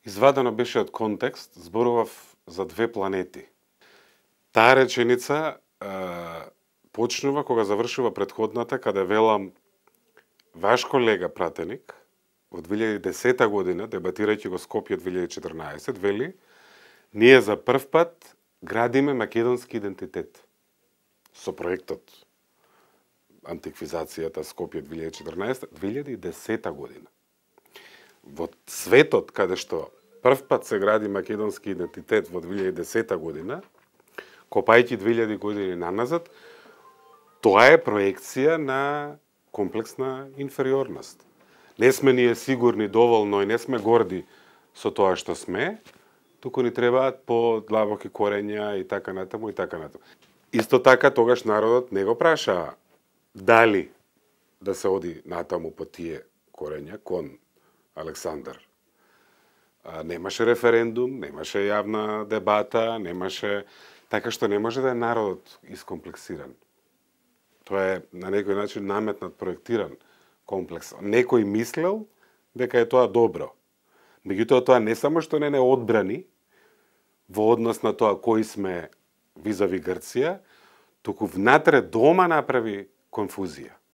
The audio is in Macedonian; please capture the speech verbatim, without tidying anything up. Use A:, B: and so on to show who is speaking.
A: извадено беше од контекст, зборував за две планети. Таа реченица е, почнува кога завршува предходната, каде велам ваш колега пратеник во две илјади и десета година, дебатирајќи го Скопје две илјади и четрнаесет, вели ние за прв пат градиме македонски идентитет со проектот антиквизацијата Скопје две илјади и четрнаесета, две илјади и десета година. Во светот каде што прв пат се гради македонски идентитет во две илјади и десета година, копајќи две илјади години наназад, тоа е проекција на комплексна инфериорност. Не сме ние сигурни доволно и не сме горди со тоа што сме, туку ни требаат по-длабоки корења и така натаму и така натаму. Исто така тогаш народот не го праша дали да се оди натаму по тие корења кон Александар. А, немаше референдум, немаше јавна дебата, немаше, така што не може да е народот искомплексиран. Тоа е на некој начин наметнат, проектиран комплекс. Некој мислел дека е тоа добро. Меѓутоа тоа не само што не не одбрани во однос на тоа кои сме визави Грција, туку внатре дома направи конфузија.